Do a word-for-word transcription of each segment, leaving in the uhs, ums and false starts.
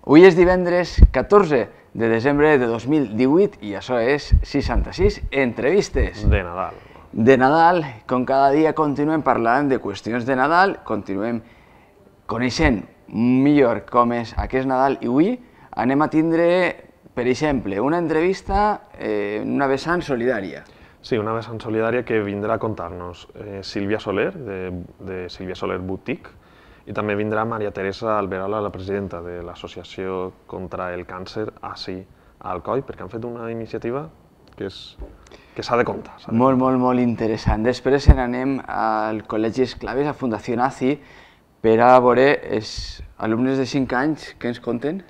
Avui és divendres catorze de desembre de dos mil divuit i això és seixanta-sis entrevistes. De Nadal. De Nadal, com cada dia continuem parlant de qüestions de Nadal, continuem coneixent millor com és aquest Nadal i avui anem a tindre, per exemple, una entrevista en una vessant solidària. Sí, una vessant solidària que vindrà a contar-nos eh, Sílvia Soler, de, de Sílvia Soler Boutique, i també vindrà Maria Teresa Alberola, la presidenta de l'Associació contra el Càncer ací a Alcoi, perquè han fet una iniciativa que és que s'ha de contar. Molt, molt, molt interessant. Després n'anem al Col·legi Esclaves, a Fundació Nazi, per a veure els alumnes de cinc anys que ens conten.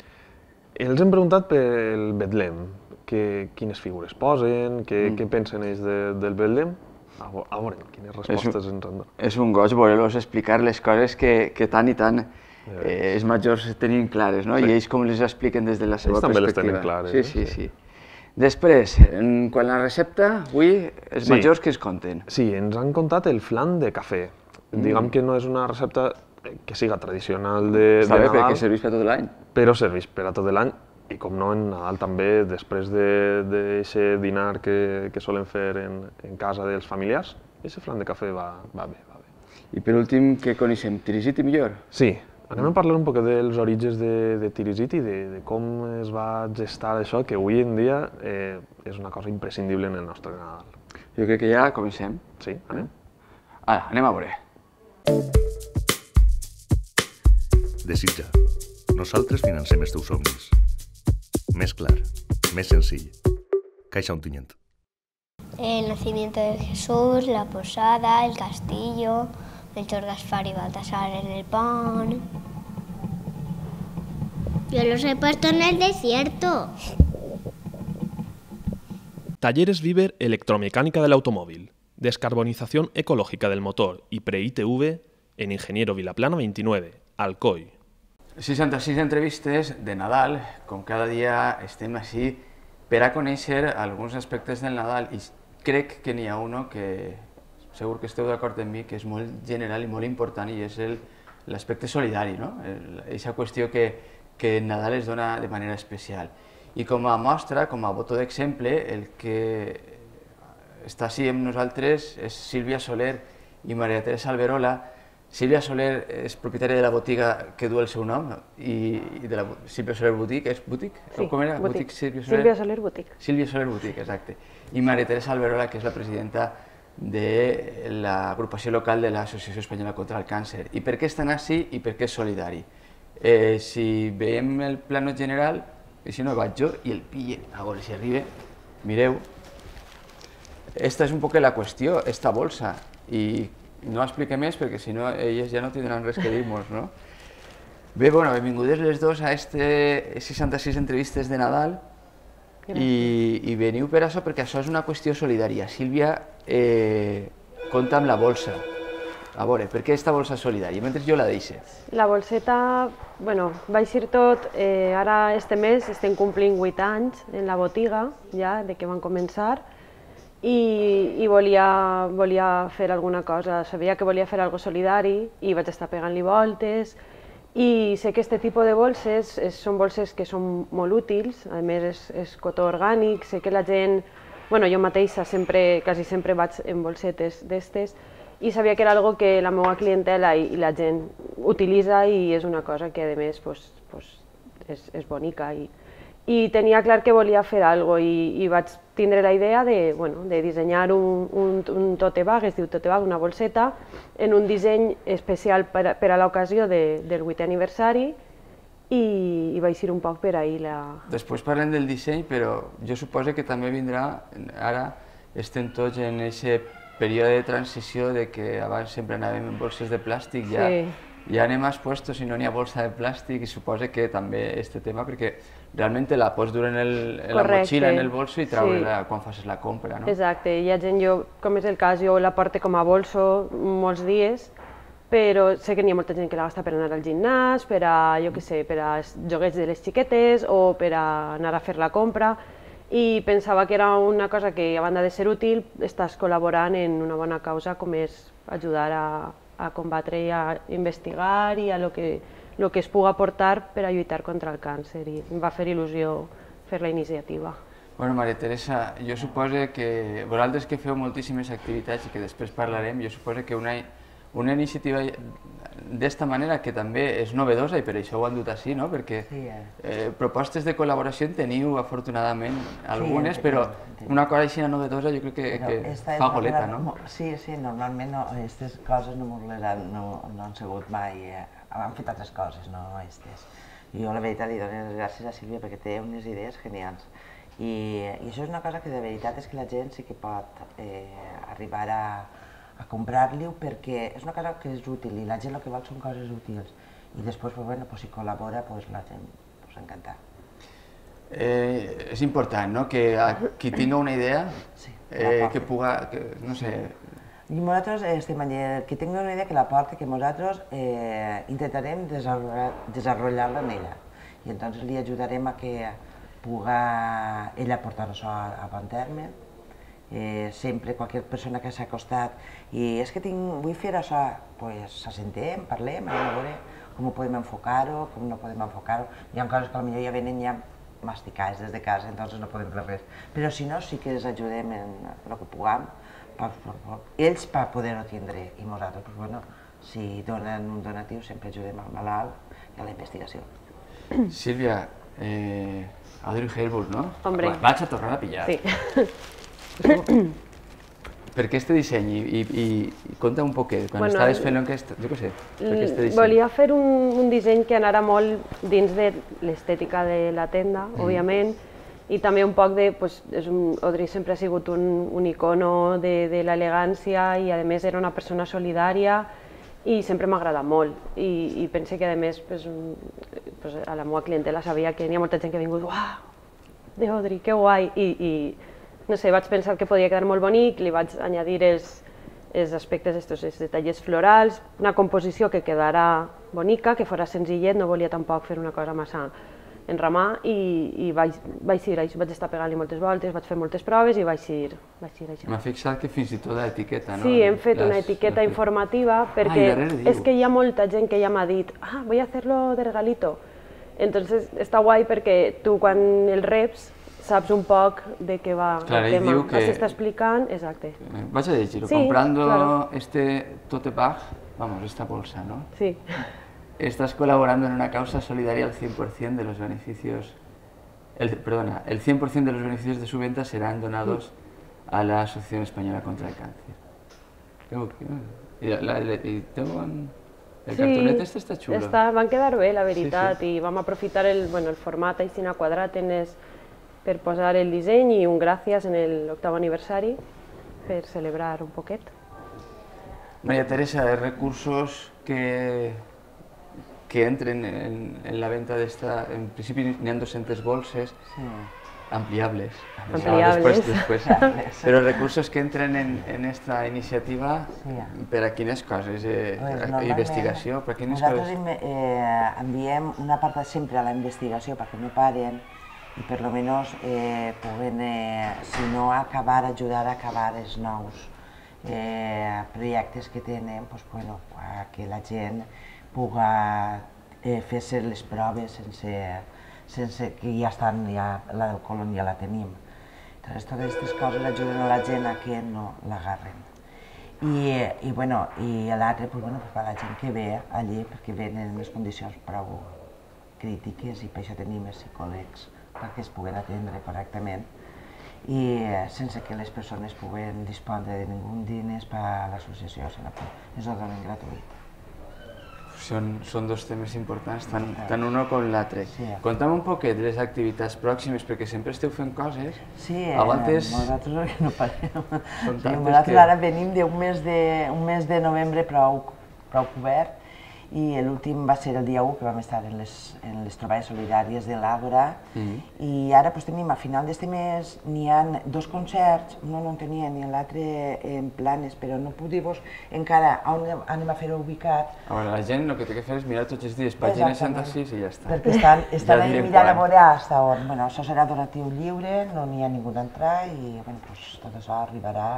Els hem preguntat pel Betlem, que, quines figures posen, que, mm. què pensen ells de, del Betlem. A veure, quines respostes ens han donat. És un goig voler-los explicar les coses que, que tant i tant eh, els majors tenien clares, no? Sí. I ells com les expliquen des de la seva ells perspectiva. També les tenen clares. Sí, sí, sí. sí. Després, en, quan la recepta, avui, els sí. majors que ens conten? Sí, ens han contat el flan de cafè. Mm. Diguem que no és una recepta que siga tradicional de, Està de bé, Nadal. perquè serveix per tot l'any. Però serveix per a tot l'any. I com no, en Nadal també, després d'aquest dinar que, que solen fer en, en casa dels familiars, aquest flan de cafè va, va bé, va bé. I per últim, què coneixem? Tirisiti millor? Sí, anem a parlar un poc dels orígens de, de Tirisiti, de, de com es va gestar això, que avui en dia eh, és una cosa imprescindible en el nostre Nadal. Jo crec que ja comencem. Sí, anem. Ara, anem a veure. Desitja. Nosaltres financem els teus somnis. Més clar, més senzill. Caixa Ontinyent. El nacimiento de Jesús, la posada, el castillo, Melchor, Gaspar y Baltasar en el pan. Yo los he puesto en el desierto. Talleres Viver Electromecánica del Automóvil, descarbonización ecológica del motor y pre-I T V en Ingeniero Vilaplana veintinueve, Alcoi. seixanta-sis entrevistes de Nadal, com cada dia estem així per a conèixer alguns aspectes del Nadal i crec que n'hi ha un que segur que esteu d'acord amb mi, que és molt general i molt important i és l'aspecte solidari, no? Aquesta qüestió que, que Nadal es dona de manera especial. I com a mostra, com a botó d'exemple, el que està així amb nosaltres és Sílvia Soler i Maria Teresa Alberola. Sílvia Soler és propietària de la botiga que du el seu nom i de la Sílvia Soler Boutique, és Boutique? Sí, com era? Boutique. Sílvia Sílvia Soler Boutique. Sílvia Soler Boutique, exacte. I Maria Teresa Alberola, que és la presidenta de l'agrupació local de l'Associació Espanyola contra el Càncer. I per què estan així i per què és solidari? Eh, si veiem el plano general, i si no vaig jo i el pille, a veure si arriba, mireu. Esta és un poc la qüestió, esta bolsa, i no expliqué més perquè si no elles ja no tindran res que dir-nos, no? Bé, bueno, benvingudes les dos a este seixanta-sis entrevistes de Nadal i, i veniu per això perquè això és una qüestió solidària. Sílvia eh, compta amb la bolsa. A veure, per què aquesta bolsa solidària? Mentre jo la deixe. La bolseta, bueno, va eixir tot, eh, ara este mes estem complint vuit anys en la botiga, ja, de que van començar, i, i volia, volia fer alguna cosa, sabia que volia fer alguna cosa solidari i vaig estar pegant-li voltes i sé que aquest tipus de bolses és, són bolses que són molt útils, a més és, és cotó orgànic, sé que la gent, bueno, jo mateixa sempre, quasi sempre vaig en bolsetes d'estes i sabia que era algo que la meva clientela i, i la gent utilitza i és una cosa que a més pues, pues, és, és bonica i, i tenia clar que volia fer alguna cosa i, i vaig tindre la idea de, bueno, de dissenyar un, un, un tote bag, es diu tote bag, una bolseta, en un disseny especial per a, per a l'ocasió de, del vuitè aniversari i, i va eixir un poc per ahir la... Després parlem del disseny, però jo suposo que també vindrà, ara estem tots en aquest període de transició de que abans sempre anàvem en bolses de plàstic, ja, sí. ja anem expostos si no n'hi ha bolsa de plàstic i suposo que també aquest tema, perquè realment la pots dur en, el, en la motxilla, en el bolso i treure-la sí. quan facis la compra, no? Exacte, hi ha gent, jo, com és el cas, jo la porto com a bolso molts dies, però sé que n'hi ha molta gent que la gasta per anar al gimnàs, per a, jo què sé, per a joguets de les xiquetes o per a anar a fer la compra, i pensava que era una cosa que, a banda de ser útil, estàs col·laborant en una bona causa com és ajudar a, a combatre i a investigar i a lo que el que es pugui aportar per a lluitar contra el càncer, i em va fer il·lusió fer la iniciativa. Bueno, Maria Teresa, jo suposo que vosaltres que feu moltíssimes activitats i que després parlarem, jo suposo que una, una iniciativa d'esta manera que també és novedosa i per això ho han dut així, no? Perquè eh, propostes de col·laboració en teniu afortunadament algunes, sí, però una cosa així novedosa jo crec que, que fa goleta, no? Sí, sí, normalment aquestes no, coses no, han, no, no han sigut mai, eh, han fet altres coses, no aquestes. I jo la veritat li dono les gràcies a Sílvia perquè té unes idees genials. I, i això és una cosa que de veritat és que la gent sí que pot eh, arribar a a comprar-li-ho perquè és una cosa que és útil i la gent el que vol són coses útils i després, pues, bueno, pues, si col·labora, pues, la gent pues, encantada. Eh, és important, no?, que a qui tinga una idea, sí, eh, que puga, que, no sé... I nosaltres estem allà, que tingui una idea que la porti, que nosaltres eh, intentarem desenvolupar-la en ella i entonces li ajudarem a que puga ella portar això a, a bon terme. Eh, sempre qualsevol persona que s'ha acostat i és que tinc, vull fer això, pues s'assentem, parlem, anem a veure com ho podem enfocar-ho, com no podem enfocar-ho. Hi ha coses que potser ja venen ja masticades des de casa, entonces no podem fer res. Però si no, sí que els ajudem en el que puguem, per, per, per, ells per poder-ho tindre i nosaltres, pues, bueno, si donen un donatiu sempre ajudem al malalt i a la investigació. Sílvia, eh, Audrey Hepburn, no? Hombre. Vaig a tornar a pillar. Sí. Per què este disseny? I, i, i conta un poquet, quan bueno, estaves fent aquest, jo què sé, per què este disseny? Volia fer un, un disseny que anara molt dins de l'estètica de la tenda, mm. òbviament, i també un poc de, pues, és un, Audrey sempre ha sigut un, un icono de, de l'elegància i a més era una persona solidària i sempre m'ha agradat molt i, i pense que a més pues, pues, a la meva clientela sabia que hi ha molta gent que ha vingut, uau, de Audrey, que guai, i, i no sé, vaig pensar que podia quedar molt bonic, li vaig añadir els, els aspectes, estos, els detalls florals, una composició que quedara bonica, que fora senzillet, no volia tampoc fer una cosa massa enramar i, i vaig, vaig ir, vaig estar pegant-li moltes voltes, vaig fer moltes proves i vaig ir, vaig ir això. M'ha fixat que fins i tot l'etiqueta, no? Sí, hem fet una etiqueta informativa perquè és que hi ha molta gent que ja m'ha dit ah, voy a hacerlo de regalito. Entonces està guai perquè tu quan el reps saps un poc de què va el tema, s'està explicant, exacte. Vaig a llegir-ho, comprando este tote bag, vamos, esta bolsa, ¿no? Sí. Estás colaborando en una causa solidaria al cien por cien de los beneficios, el, perdona, el cien por cien de los beneficios de su venta serán donados a la Asociación Española contra el Cáncer. Tengo que... Y, la, y tengo... El sí, cartonet este està xulo. Està, van quedar bé, la veritat, sí, sí. I vam aprofitar el, bueno, el format així quadrat en es, per posar el disseny i un gràcies en l'octavo aniversari per celebrar un poquet. Maria Teresa, els recursos que, que entren en, en la venta d'esta, en principi n'hi ha dues-centes bolses, sí. ampliables, ampliables. Después, después. Però els recursos que entren en, en esta iniciativa, sí. per a quines coses? Eh, pues investigació? Per a quines nosaltres coses? Eh, enviem una part sempre a la investigació perquè no paren i per lo menos eh, puguen, eh, si no acabar, ajudar a acabar els nous eh, projectes que tenen, pues, bueno, que la gent puga eh, fer-se les proves sense, sense que ja estan, ja, la del colon ja la tenim. Entonces, totes aquestes coses ajuden a la gent a que no l'agarren. I, i, bueno, i l'altre, pues, bueno, per la gent que ve allí, perquè venen en les condicions prou crítiques i per això tenim els psicòlegs perquè es puguen atendre correctament i sense que les persones puguen dispondre de ningú diners per a l'associació, sinó que és el donen gratuït. Són, són dos temes importants, tant, tant un com l'altre. Sí. Conta'm un poquet de les activitats pròximes, perquè sempre esteu fent coses. Sí, eh, voltes... nosaltres no parem. Sí, nosaltres que... ara venim d'un mes, de, un mes de novembre prou, prou cobert i l'últim va ser el dia u, que vam estar en les, en les troballes solidàries de l'Àgora, mm-hmm. i ara pues, tenim a final d'este mes n'hi ha dos concerts, no no en tenia ni l'altre en planes, però no puc dir-vos encara on anem a fer-ho ubicat. A veure, la gent el que té que fer és mirar tots els dies pàgina seixanta sis i ja està. Perquè estan, estan ja mirant a veure fins on. Bueno, això serà donatiu lliure, no n'hi ha ningú d'entrar i bueno, pues, tot això arribarà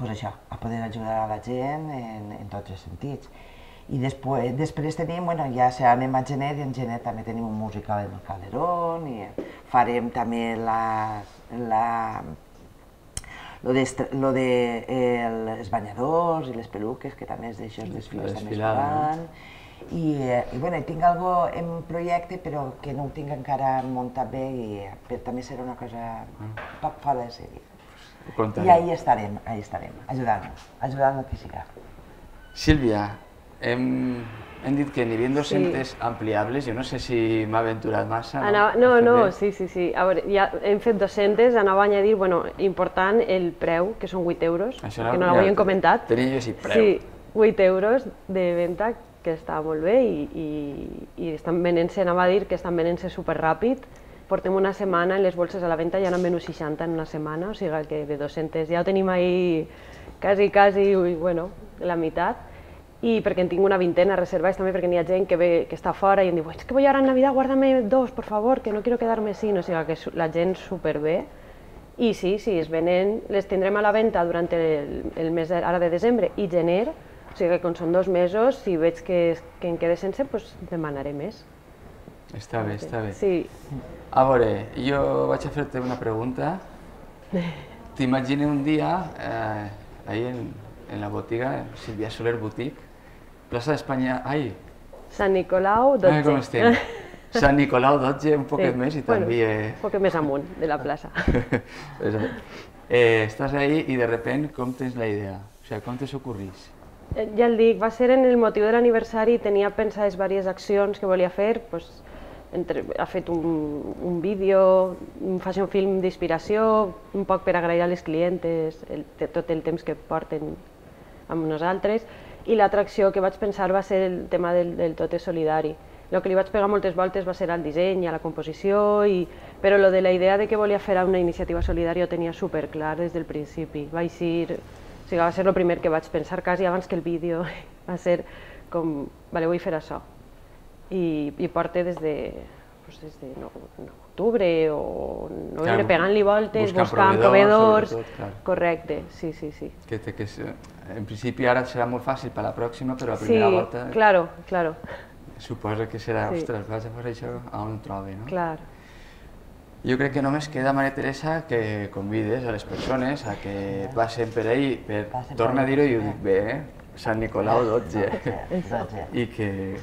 pues, això, a poder ajudar a la gent en, en tots els sentits. I després, després tenim, bueno, ja anem a gener, i en gener també tenim un musical en el Calderón, i farem també la, la, lo de, lo de eh, els banyadors i les peluques, que també és d'això, els desfiles també es faran. I, i bueno, tinc algo en projecte, però que no ho tinc encara muntat bé, i però també serà una cosa poc fora de sèrie. I ahí estarem, ahí estarem, ajudant-nos, ajudant el que siga. Sílvia, hem, hem dit que n'hi havia dos-centes ampliables, jo no sé si m'ha aventurat massa. No, no, sí, sí, sí. A veure, ja hem fet dos-centes, anava a añadir, bueno, important el preu, que són vuit euros, que no l'havíem comentat. Tenia jo sí, preu. Sí, vuit euros de venda, que està molt bé, i estan venent-se, anava a dir que estan venent-se superràpid. Portem una setmana en les bolses a la venda, ja n'han venut seixanta en una setmana, o sigui que de dos-centes ja ho tenim ahí quasi, quasi, bueno, la meitat. I perquè en tinc una vintena reservats també, perquè n'hi ha gent que ve, que està fora i em diu és que voy ahora en Navidad, guárdame dos, por favor, que no quiero quedarme sin, o sigui que la gent superbé. I sí, sí, es venen, les tindrem a la venda durant el mes ara de desembre i gener, o sigui que quan són dos mesos, si veig que em quede sense, doncs demanaré més. Està bé, està bé. Sí. A veure, jo vaig a fer-te una pregunta. T'imagino un dia, ahí en la botiga, Sílvia Soler Boutique, plaça d'Espanya, ai... Sant Nicolau, dotze. Ah, com estem? Sant Nicolau, dotze, un poquet més i també... Un poquet més amunt de la plaça. Estàs ahí i de repent com tens la idea? O sigui, com te s'ocorrís? Ja el dic, va ser en el motiu de l'aniversari, tenia pensades diverses accions que volia fer, ha fet un vídeo, fa un film d'inspiració, un poc per agrair a les clientes tot el temps que porten amb nosaltres, i l'atracció que vaig pensar va ser el tema del tot és solidari. El que li vaig pegar moltes voltes va ser al disseny, a la composició, però lo de la idea de que volia fer una iniciativa solidària ho tenia superclar des del principi. Va ser el primer que vaig pensar, quasi abans que el vídeo, va ser com, vale, vull fer això. I porta des de octubre o novembre pegant-li voltes, buscant proveedors... Correcte, sí, sí, sí. En principi ara serà molt fàcil per la pròxima, però la primera volta... Sí, claro, claro. Suposa que serà, ostres, vaig a fer això on ho trobi, no? Clar. Jo crec que només queda, Maria Teresa, que convides a les persones a que passen per ahí, per tornar a dir-ho i ho dic bé, eh? Sant Nicolau dotze, i que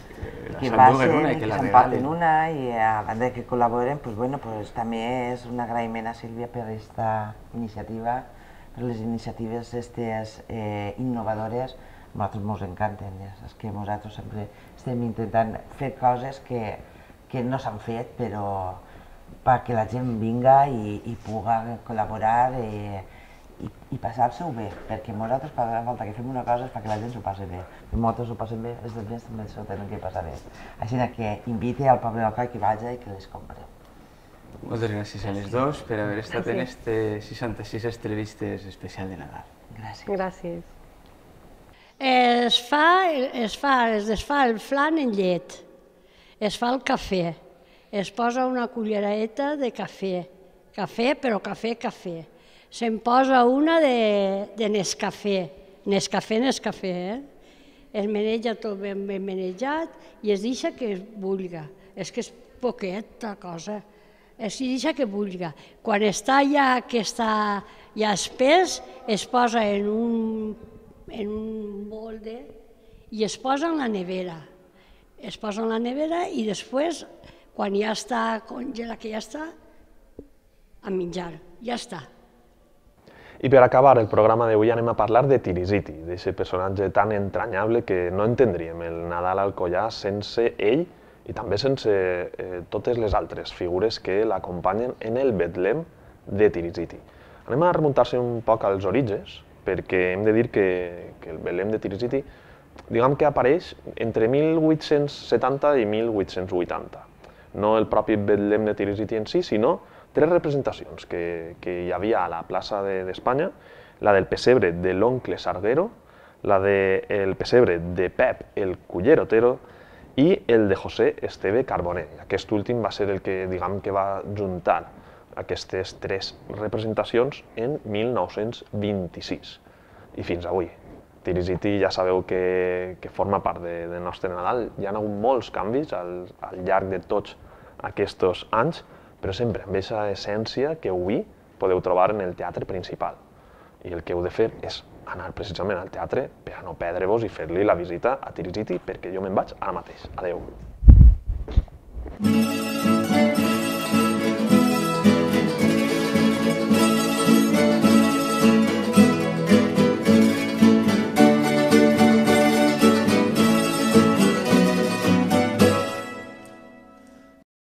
s'enduguen una i que la regalin. Que s'emporten una i a banda que col·laboren, també és un agraïment a Sílvia per aquesta iniciativa, per les iniciatives innovadores. A nosaltres ens encanten, és que nosaltres sempre estem intentant fer coses que no s'han fet, però perquè la gent vinga i pugui col·laborar i passar-se-ho bé, perquè nosaltres cada volta que fem una cosa és perquè la gent s'ho passi bé. Si nosaltres s'ho passen bé, els altres també s'ho tenen que passar bé. Així que invite al poble d'Alcoi que vagi i que les compri. Moltes gràcies a les dues per haver estat en aquestes seixanta-sis entrevistes especial de Nadal. Gràcies. Gràcies. Es fa, es fa, es desfà el flan en llet, es fa el cafè, es posa una cullereta de cafè, cafè però cafè, cafè. Se'n posa una de Nescafé, Nescafé, Nescafé, es meneja tot ben menejat i es deixa que es bullga. És que és poqueta cosa, es deixa que bullga. Quan està ja que està ja espès, es posa en un molde i es posa en la nevera. Es posa en la nevera i després, quan ja està congelat, que ja està, a menjar, ja està. I per acabar el programa d'avui anem a parlar de Tirisiti, d'aquest personatge tan entranyable que no entendríem el Nadal alcoià sense ell i també sense totes les altres figures que l'acompanyen en el Betlem de Tirisiti. Anem a remuntar-se un poc als orígens, perquè hem de dir que el Betlem de Tirisiti diguem que apareix entre mil vuit-cents setanta i mil vuit-cents vuitanta. No el propi Betlem de Tirisiti en si, sinó tres representacions que hi havia a la plaça d'Espanya, la del pessebre de l'oncle Sarguero, la del pessebre de Pep el cullerotero i el de José Esteve Carboner. Aquest últim va ser el que, diguem, que va juntar aquestes tres representacions en mil nou-cents vint-i-sis i fins avui. Tirisiti ja sabeu que, que forma part de, del nostre Nadal. Hi ha hagut molts canvis al, al llarg de tots aquests anys, però sempre amb aquesta essència que avui podeu trobar en el teatre principal. I el que heu de fer és anar precisament al teatre per a no perdre-vos i fer-li la visita a Tirisiti, perquè jo me'n vaig ara mateix. Adeu.